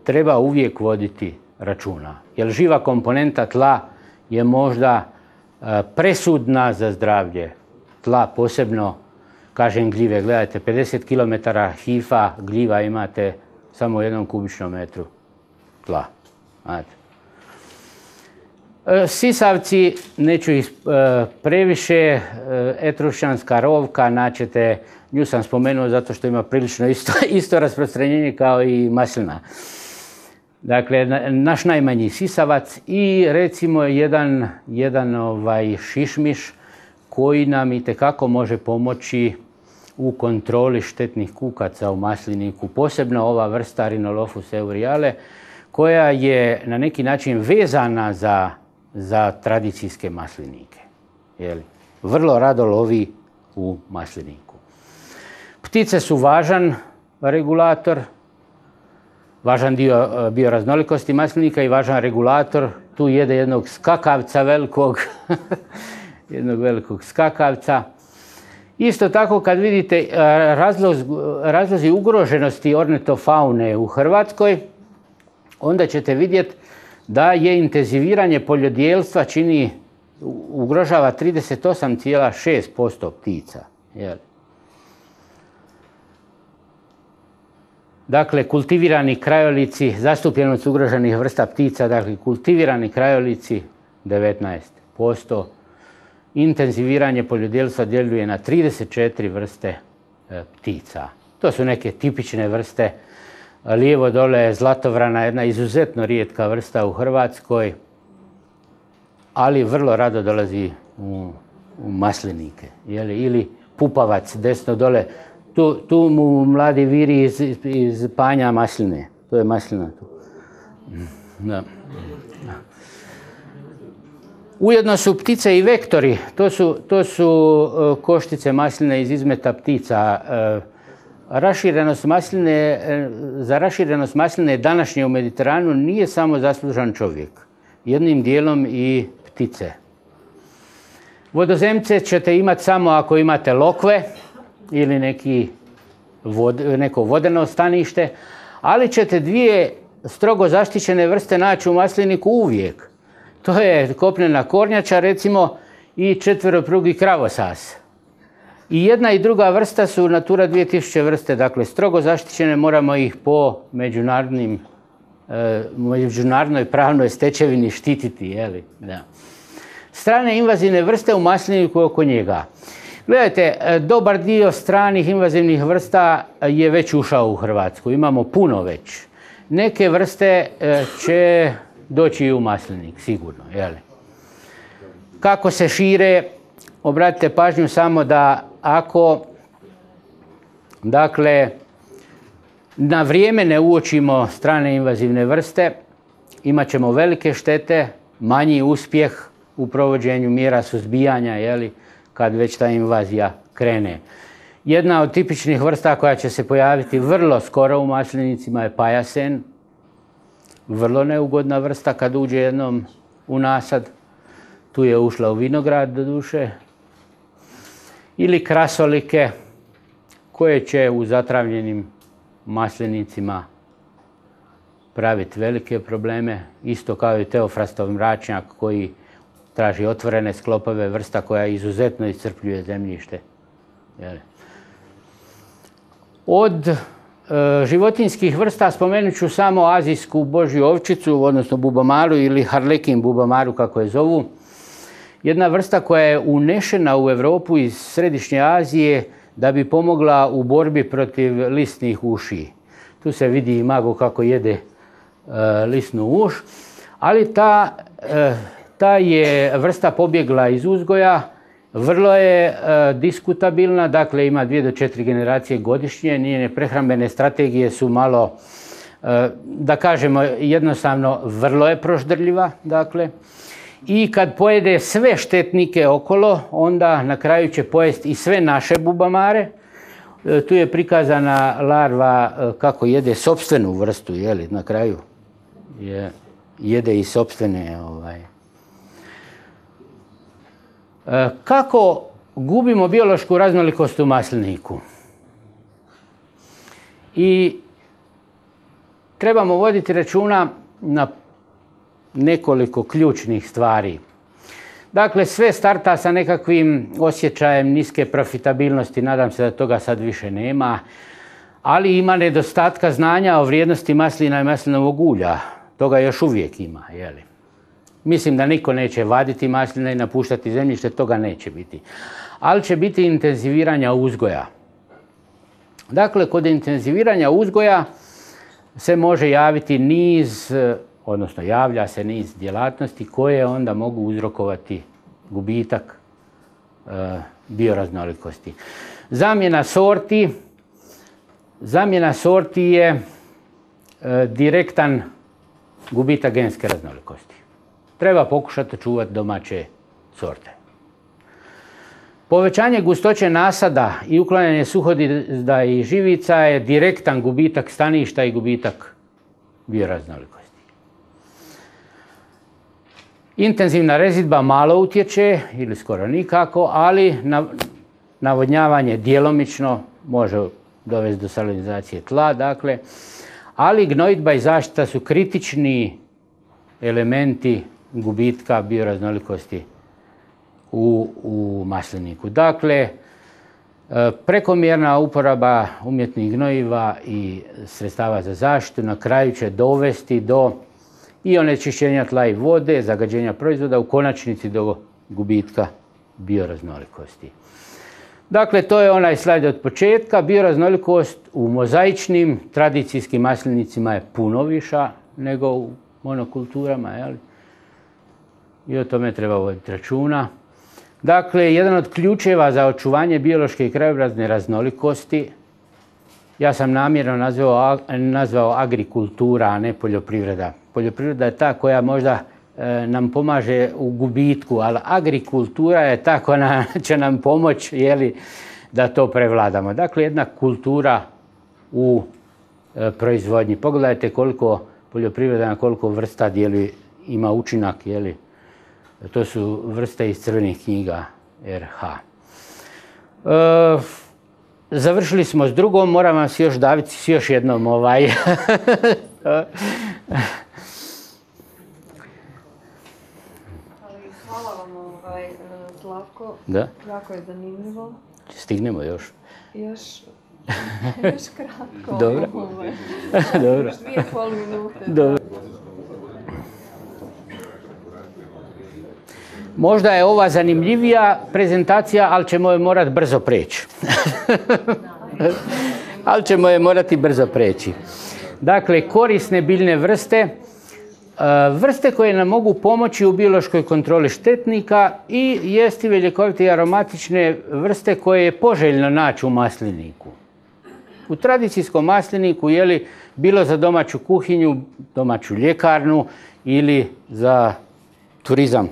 treba uvijek voditi računa. Jer živa komponenta tla je možda presudna za zdravlje tla, posebno, kažem, gljive. Gledajte, 50 km hifa gljiva imate samo u 1 kubičnom metru tla. Sisavci, neću ih previše, etrušćanska rovka, naćete, nju sam spomenuo zato što ima prilično isto rasprostranjenje kao i maslina. Dakle, naš najmanji sisavac i recimo jedan šišmiš koji nam itekako može pomoći u kontroli štetnih kukaca u masliniku, posebno ova vrsta Rhinolophus euryale, koja je na neki način vezana za tradicijske maslinike. Vrlo rado lovi u masliniku. Ptice su važan regulator, važan dio bioraznolikosti maslinika i važan regulator. Tu jede jednog skakavca velikog, jednog velikog skakavca. Isto tako, kad vidite razlozi ugroženosti ornitofaune u Hrvatskoj, onda ćete vidjeti da je intenziviranje poljodjelstva ugrožava 38,6% ptica. Dakle, kultivirani krajolici, zastupljenost ugroženih vrsta ptica, dakle, kultivirani krajolici 19%. Intenziviranje poljodjelstva djeluje na 34 vrste ptica. To su neke tipične vrste. Lijevo dole je zlatovrana, jedna izuzetno rijetka vrsta u Hrvatskoj, ali vrlo rado dolazi u maslinike. Ili pupavac desno dole. Tu mu mladi viri iz panja masline. To je maslina tu. Da. Ujedno su ptice i vektori. To su koštice masline iz izmeta ptica. Za raširenost masline današnje u Mediteranu nije samo zaslužan čovjek. Jednim dijelom i ptice. Vodozemce ćete imati samo ako imate lokve ili neko vodeno stanište, ali ćete dvije strogo zaštićene vrste naći u masliniku uvijek. To je kopnena kornjača, recimo, i četveroprugi kravosas. I jedna i druga vrsta su Natura 2000 vrste, dakle strogo zaštićene, moramo ih po međunarodnoj pravnoj stečevini štititi. Da. Strane invazivne vrste u masliniku oko njega. Gledajte, dobar dio stranih invazivnih vrsta je već ušao u Hrvatsku. Imamo puno već. Neke vrste će doći i u maslinik, sigurno. Jeli? Kako se šire, obratite pažnju samo da ako, dakle, na vrijeme ne uočimo strane invazivne vrste, imat ćemo velike štete, manji uspjeh u provođenju mjera suzbijanja, jeli, kad već ta invazija krene. Jedna od tipičnih vrsta koja će se pojaviti vrlo skoro u maslinicima je pajasen. Vrlo neugodna vrsta kad uđe jednom u nasad. Tu je ušla u vinograd, doduše. Ili krasolike koje će u zatravljenim maslinicima praviti velike probleme. Isto kao i teofrastov mračnjak koji traži otvorene sklopove, vrsta koja izuzetno iscrpljuje zemljište. Od životinjskih vrsta spomenut ću samo azijsku božju ovčicu, odnosno bubamaru ili harlekin bubamaru kako je zovu. Jedna vrsta koja je unešena u Europu iz Središnje Azije da bi pomogla u borbi protiv lisnih uši. Tu se vidi i mago kako jede lisnu uš, ali ta je vrsta pobjegla iz uzgoja, vrlo je diskutabilna, dakle ima 2 do 4 generacije godišnje, njene prehrambene strategije su malo, da kažemo jednostavno, vrlo je proždrljiva, dakle. I kad pojede sve štetnike okolo, onda na kraju će pojesti i sve naše bubamare. Tu je prikazana larva kako jede sopstvenu vrstu, jeli, na kraju jede i sopstvene. Kako gubimo biološku raznolikost u masliniku? I trebamo voditi računa na nekoliko ključnih stvari. Dakle, sve starta sa nekakvim osjećajem niske profitabilnosti, nadam se da toga sad više nema, ali ima nedostatka znanja o vrijednosti maslina i maslinovog ulja. Toga još uvijek ima, jeli? Mislim da niko neće vaditi masline i napuštati zemljište, toga neće biti. Ali će biti intenziviranja uzgoja. Dakle, kod intenziviranja uzgoja se može javiti niz, odnosno javlja se niz djelatnosti koje onda mogu uzrokovati gubitak bioraznolikosti. Zamjena sorti je direktan gubitak genske raznolikosti. Treba pokušati čuvati domaće sorte. Povećanje gustoće nasada i uklanjanje suhodizda i živica je direktan gubitak staništa i gubitak bioraznolikosti. Intenzivna rezidba malo utječe ili skoro nikako, ali navodnjavanje djelomično može dovesti do salinizacije tla, dakle, ali gnojidba i zaštita su kritični elementi gubitka bioraznolikosti u masliniku. Dakle, prekomjerna uporaba umjetnih gnojiva i sredstava za zaštitu na kraju će dovesti do i onečišćenja tla i vode, zagađenja proizvoda, u konačnici do gubitka bioraznolikosti. Dakle, to je onaj slajd od početka. Bioraznolikost u mozaičnim tradicijskim maslinicima je puno viša nego u monokulturama, jel? I o tome treba voditi računa. Dakle, jedan od ključeva za očuvanje biološke i krajobrazne raznolikosti, ja sam namjerno nazvao agrikultura, a ne poljoprivreda. Poljoprivreda je ta koja možda nam pomaže u gubitku, ali agrikultura je ta koja će nam pomoći, jeli, da to prevladamo. Dakle, jedna kultura u proizvodnji. Pogledajte koliko poljoprivreda na koliko vrsta ima učinak, jeli. To su vrste iz crvenih knjiga RH. Završili smo s drugom, moram vam se još daviti s još jednom Hvala vam, Slavko. Da? Jako je zanimljivo. Stignemo još. Još kratko. Dobro. Dobro. Još 2,5 minute. Dobro. Možda je ova zanimljivija prezentacija, ali ćemo je morati brzo preći. Ali ćemo je morati brzo preći. Dakle, korisne biljne vrste, vrste koje nam mogu pomoći u biološkoj kontroli štetnika i jestive, ljekovite i aromatične vrste koje je poželjno naći u masliniku. U tradicijskom masliniku, bilo za domaću kuhinju, domaću ljekarnu ili za turizam.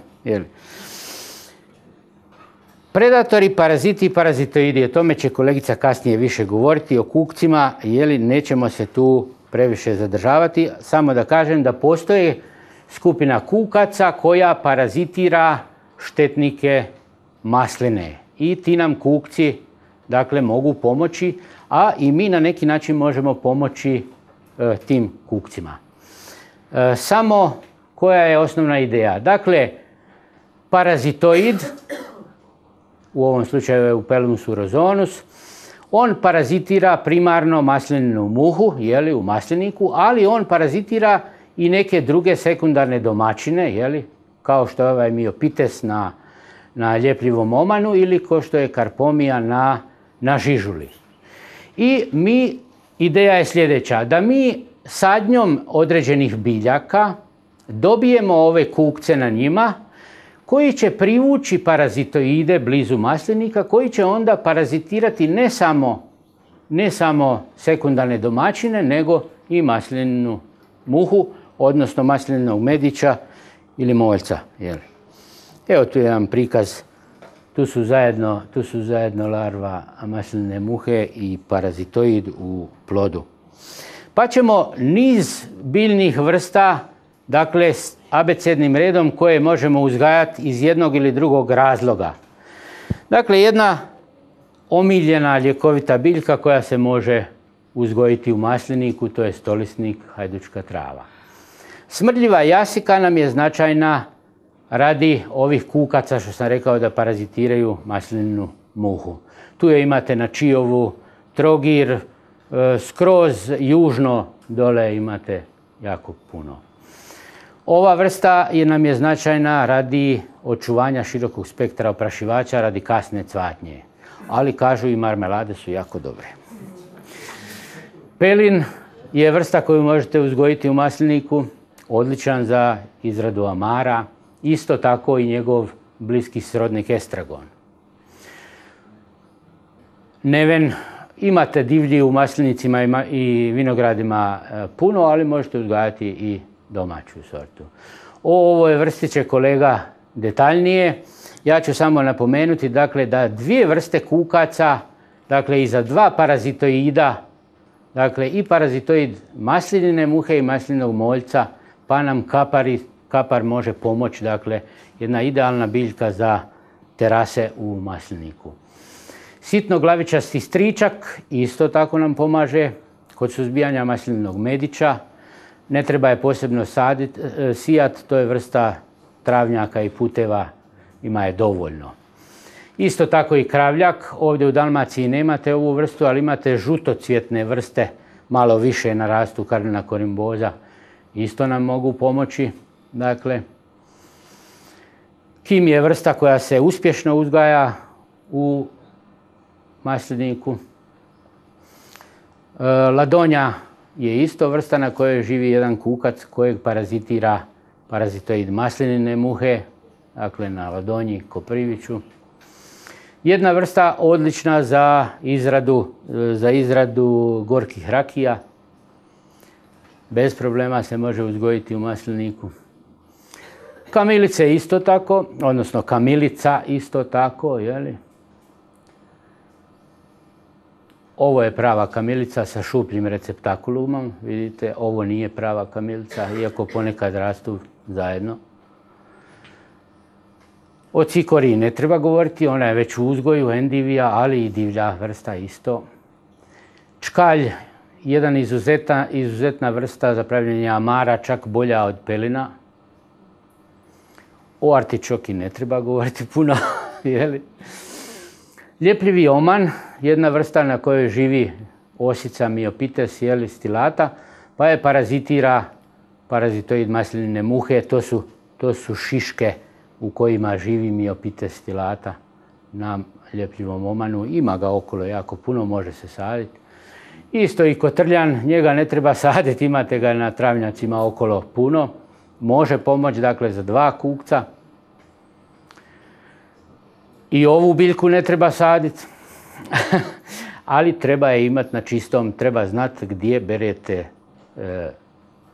Predatori, paraziti i parazitoidi, o tome će kolegica kasnije više govoriti, o kukcima, nećemo se tu previše zadržavati. Samo da kažem da postoji skupina kukaca koja parazitira štetnike masline. I ti nam kukci, dakle, mogu pomoći, a i mi na neki način možemo pomoći tim kukcima. Samo koja je osnovna ideja? Dakle, parazitoid, u ovom slučaju je Upellus urozonus, on parazitira primarno maslininu muhu, u masliniku, ali on parazitira i neke druge sekundarne domaćine, kao što je ovaj miopites na ljepljivom omanu ili kao što je karpomija na žižuli. I ideja je sljedeća, da mi sadnjom određenih biljaka dobijemo ove kukce na njima, koji će privući parazitoide blizu maslinika, koji će onda parazitirati ne samo sekundarne domaćine, nego i maslininu muhu, odnosno maslinovog medića ili moljca. Evo tu je jedan prikaz, tu su zajedno larva maslinine muhe i parazitoid u plodu. Pa ćemo niz biljnih vrsta, dakle, abecednim redom koje možemo uzgajati iz jednog ili drugog razloga. Dakle, jedna omiljena ljekovita biljka koja se može uzgojiti u masliniku, to je stolisnik, hajdučka trava. Smrdljiva jasika nam je značajna radi ovih kukaca što sam rekao da parazitiraju maslininu muhu. Tu je imate na Čiovu, Trogir, skroz južno dole imate jako puno. Ova vrsta nam je značajna radi očuvanja širokog spektra oprašivača radi kasne cvatnje. Ali kažu i marmelade su jako dobre. Pelin je vrsta koju možete uzgojiti u masliniku, odličan za izradu amara, isto tako i njegov bliski srodnik estragon. Neven, imate divlji u maslinicima i vinogradima puno, ali možete uzgajati i domaću sortu. O ovoj vrsti će kolega detaljnije. Ja ću samo napomenuti dakle, da dvije vrste kukaca, dakle i za dva parazitoida, dakle i parazitoid maslinine muhe i maslinovog moljca, pa nam kapar može pomoći, dakle jedna idealna biljka za terase u masliniku. Sitnoglavičasti stričak isto tako nam pomaže kod suzbijanja maslinovog medića. Ne treba je posebno sijati, to je vrsta travnjaka i puteva, ima je dovoljno. Isto tako i kravljak, ovdje u Dalmaciji nemate ovu vrstu, ali imate žutocvjetne vrste, malo više narastu, Carnina corimbosa, isto nam mogu pomoći. Dakle, kim je vrsta koja se uspješno uzgaja u masliniku. Ladonja je isto vrsta na kojoj živi jedan kukac kojeg parazitira parazitoid maslinine muhe, dakle na ladonji, kopriviću. Jedna vrsta odlična za izradu gorkih rakija. Bez problema se može uzgojiti u masliniku. Kamilice isto tako, odnosno kamilica isto tako, jeli? Ovo je prava kamilica sa šupljim receptakulumom, vidite, ovo nije prava kamilica, iako ponekad rastu zajedno. O cikori ne treba govoriti, ona je već u uzgoju, endivija, ali i divlja vrsta isto. Čkalj, jedan izuzetna vrsta za pravljenje amara, čak bolja od pelina. O artičoki ne treba govoriti puno, jeli? Ljepljivi oman, jedna vrsta na kojoj živi osica miopites, stilata, pa je parazitira parazitoid maslinine muhe, to su šiške u kojima živi Myopites stilata na ljepljivom omanu. Ima ga okolo jako puno, može se saditi. Isto i kotrljan, njega ne treba saditi, imate ga na travnjacima okolo puno. Može pomoći, dakle, za 2 kukca. I ovu biljku ne treba saditi, ali treba je imati na čistom, treba znati gdje berete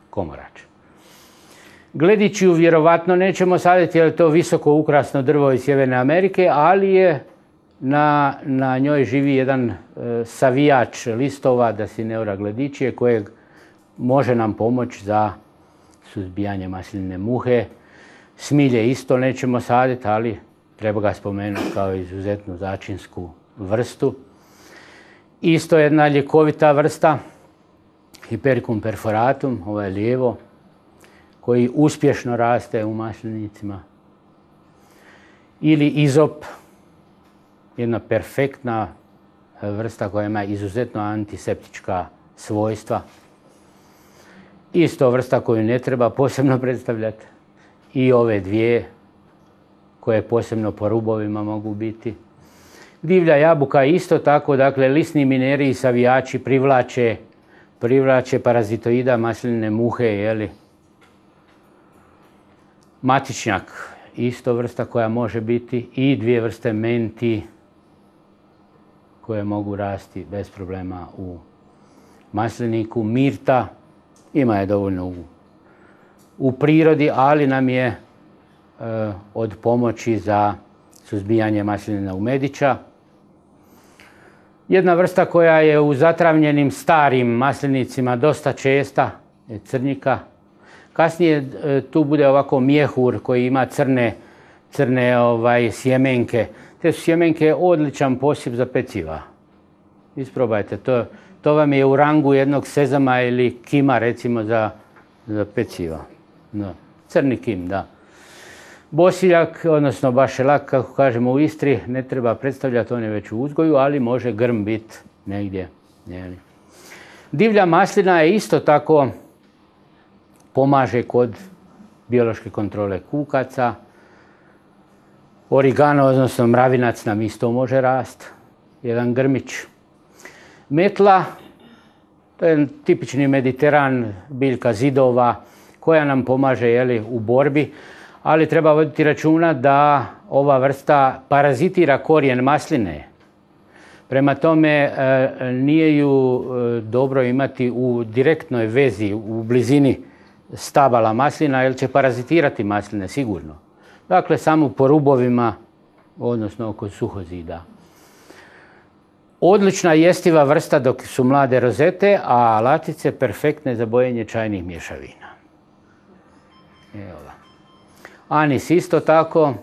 komorač. Glediću vjerovatno nećemo saditi jer je to visoko ukrasno drvo iz Sjeverne Amerike, ali je na njoj živi jedan savijač listova, Dacineura gledičije, kojeg može nam pomoći za suzbijanje maslinine muhe. Smilje isto nećemo saditi, ali treba ga spomenuti kao izuzetnu začinsku vrstu. Isto jedna ljekovita vrsta, Hipericum perforatum, ovo je lijevo, koji uspješno raste u maslinicima. Ili izop, jedna perfektna vrsta koja ima izuzetno antiseptička svojstva. Isto vrsta koju ne treba posebno predstavljati. I ove dvije koje posebno po rubovima mogu biti. Divlja jabuka isto tako, dakle, lisni mineri i savijači privlače parazitoida maslinine muhe, jeli. Matičnjak, isto vrsta koja može biti, i 2 vrste menti koje mogu rasti bez problema u masliniku. Mirta, ima je dovoljno u prirodi, ali nam je od pomoći za suzbijanje maslinina umedića. Jedna vrsta koja je u zatravnjenim starim maslinicima dosta česta je crnika. Kasnije tu bude ovako mjehur koji ima crne sjemenke. Te su sjemenke odličan posip za peciva. Isprobajte, to vam je u rangu jednog sezama ili kima, recimo, za peciva. No, crni kim, da. Bosiljak, odnosno bašelak, kako kažemo u Istri, ne treba predstavljati, on je već u uzgoju, ali može grm biti negdje. Divlja maslina je isto tako, pomaže kod biološke kontrole kukaca. Origano, odnosno mravinac, nam isto može rasti. Jedan grmić. Metla, to je tipični Mediteran, biljka zidova, koja nam pomaže, jeli, u borbi. Ali treba voditi računa da ova vrsta parazitira korijen masline. Prema tome, nije ju dobro imati u direktnoj vezi, u blizini stabala maslina, jer će parazitirati masline sigurno. Dakle, samo po rubovima, odnosno oko suhozida. Odlična jestiva vrsta dok su mlade rozete, a latice perfektne za bojenje čajnih mješavina. Evo ga. Anis isto tako.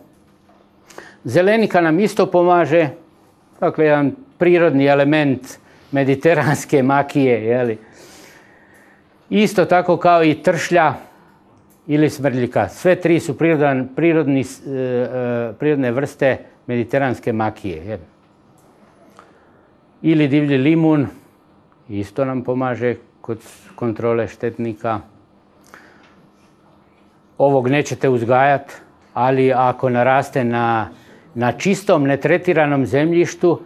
Zelenika nam isto pomaže. Dakle, jedan prirodni element mediteranske makije, jeli. Isto tako kao i tršlja ili smrdljika. Sve 3 su prirodne vrste mediteranske makije. Jeli. Ili divlji limun, isto nam pomaže kod kontrole štetnika. Ovog nećete uzgajati, ali ako naraste na čistom, netretiranom zemljištu,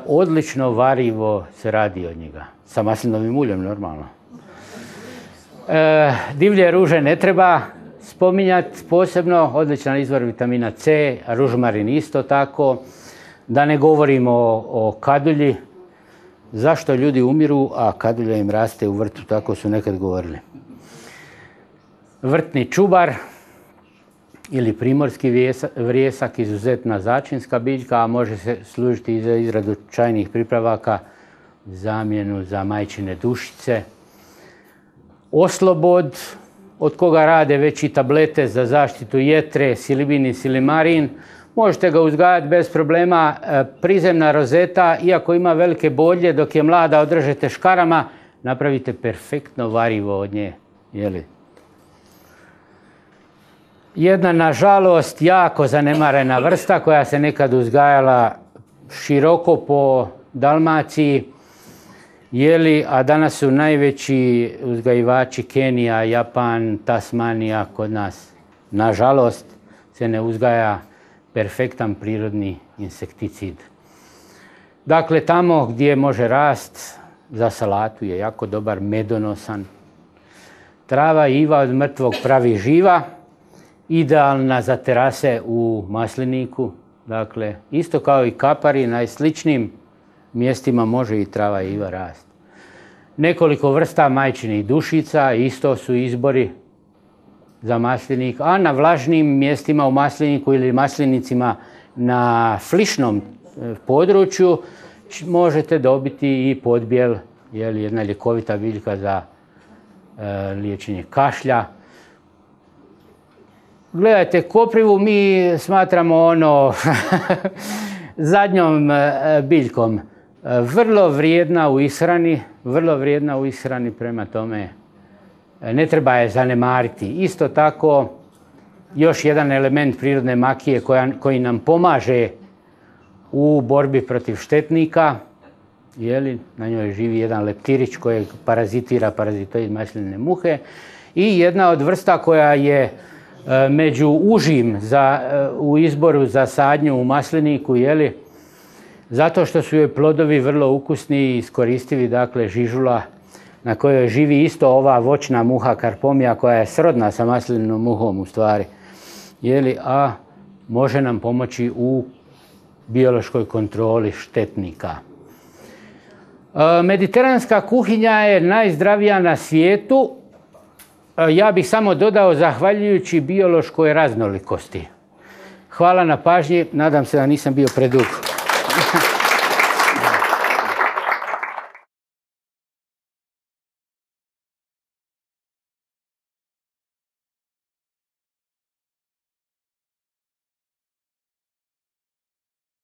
odlično varivo se radi od njega. Sa maslinovim uljem, normalno. Divlje ruže ne treba spominjati posebno, odličan izvor vitamina C, ružmarin isto tako. Da ne govorimo o kadulji. Zašto ljudi umiru, a kadulja im raste u vrtu, tako su nekad govorili. Vrtni čubar ili primorski vrijesak, izuzetna začinska biljka, a može se služiti i za izradu čajnih pripravaka, zamjenu za majčine dušice. Oslobod, od koga rade već i tablete za zaštitu jetre, silibin i silimarin. Možete ga uzgajati bez problema. Prizemna rozeta, iako ima velike bolje, dok je mlada održete škarama, napravite perfektno varivo od nje. Jeli? Jedna, nažalost, jako zanemarena vrsta koja se nekad uzgajala široko po Dalmaciji, jeli, a danas su najveći uzgajivači Kenija, Japan, Tasmanija kod nas. Nažalost, se ne uzgaja perfektan prirodni insekticid. Dakle, tamo gdje može rast, za salatu je jako dobar, medonosan. Trava iva od mrtvog pravi živa, idealna za terase u masliniku. Dakle, isto kao i kapari, na sličnim mjestima može i trava iva rast. Nekoliko vrsta majčinih dušica, isto su izbori za maslinik, a na vlažnim mjestima u masliniku ili maslinicima na flišnom području možete dobiti i podbijel, jedna ljekovita biljka za liječenje kašlja. Gledajte, koprivu mi smatramo zadnjom biljkom. Vrlo vrijedna u ishrani, prema tome ne treba je zanemariti. Isto tako, još jedan element prirodne makije koji nam pomaže u borbi protiv štetnika. Na njoj živi jedan leptirić koji parazitira parazitoid masline muhe. I jedna od vrsta koja je među užim u izboru za sadnju u masliniku, zato što su joj plodovi vrlo ukusni i iskoristivi, dakle žižula na kojoj živi isto ova voćna muha karpomija koja je srodna sa maslinom muhom u stvari, a može nam pomoći u biološkoj kontroli štetnika. Mediteranska kuhinja je najzdravija na svijetu. Ja bih samo dodao zahvaljujući biološkoj raznolikosti. Hvala na pažnji, nadam se da nisam bio predug.